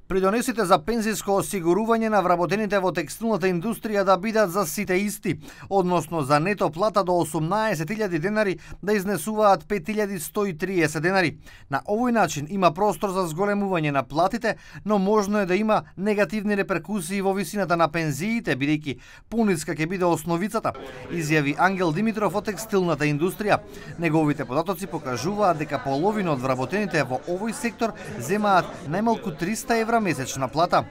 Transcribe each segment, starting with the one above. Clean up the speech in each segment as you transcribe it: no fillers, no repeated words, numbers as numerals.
Придонесите за пензиско осигурување на вработените во текстилната индустрија да бидат за сите исти, односно за нето плата до 18.000 денари да изнесуваат 5.130 денари. На овој начин има простор за зголемување на платите, но можно е да има негативни реперкусии во висината на пензиите, бидејќи пониска ќе биде основицата, изјави Ангел Димитров од текстилната индустрија. Неговите податоци покажуваат дека половина од вработените во овој сектор земаат најмалку 300 евра месечна плата.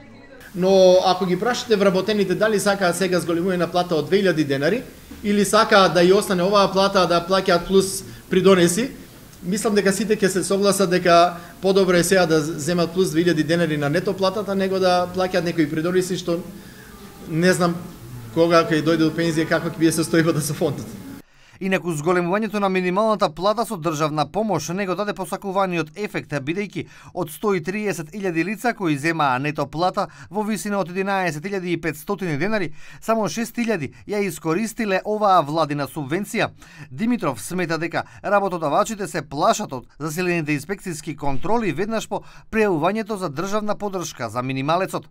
Но ако ги прашате вработените дали сакаат сега зголемување плата од 2000 денари или сакаат да ја остане оваа плата да плаќаат плюс придонеси, мислам дека сите ќе се согласат дека подобро е сега да земат плюс 2000 денари на нето платата, него да плаќаат некои придонеси што не знам кога ќе дојде до пензија каква ќе биде состојбата со фондот. Инаку зголемувањето на минималната плата со државна помош не го даде посакуваниот ефект, бидејќи од 130.000 лица кои земаа нето плата во висина од 11.500 денари, само 6.000 ја искористиле оваа владина субвенција. Димитров смета дека работодавачите се плашат од засилените инспекцијски контроли веднаш по пријавувањето за државна поддршка за минималецот.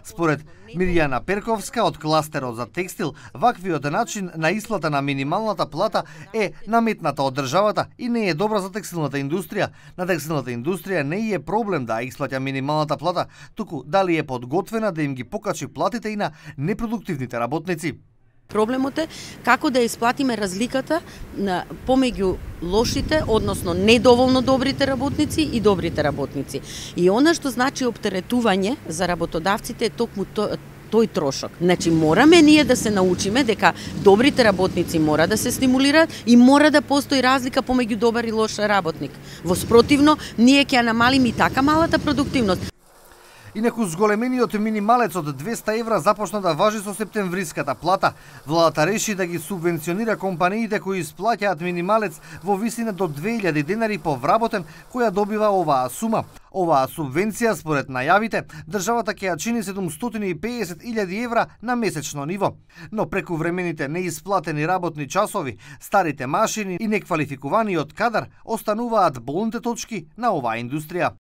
Според Мирјана Перковска од кластерот за текстил, ваквиот начин на исплата на минималната плата е наметната од државата и не е добра за текстилната индустрија. На текстилната индустрија не е проблем да исплаќа минималната плата, туку дали е подготвена да им ги покачи платите и на непродуктивните работници. Проблемот е како да исплатиме разликата помеѓу лошите, односно недоволно добрите работници и добрите работници. И она што значи оптеретување за работодавците е токму тој трошок. Значи мораме ние да се научиме дека добрите работници мора да се стимулираат и мора да постои разлика помеѓу добар и лош работник. Во спротивно, ние ќе ја намалиме и така малата продуктивност. Инаку зголемениот минималец од 200 евра започна да важи со септемвриската плата. Владата реши да ги субвенционира компаниите кои исплаќаат минималец во висина до 2000 денари по вработен која добива оваа сума. Оваа субвенција, според најавите, државата ќе ја чини 750.000 евра на месечно ниво. Но преку времените неисплатени работни часови, старите машини и неквалификуваниот кадар остануваат болните точки на оваа индустрија.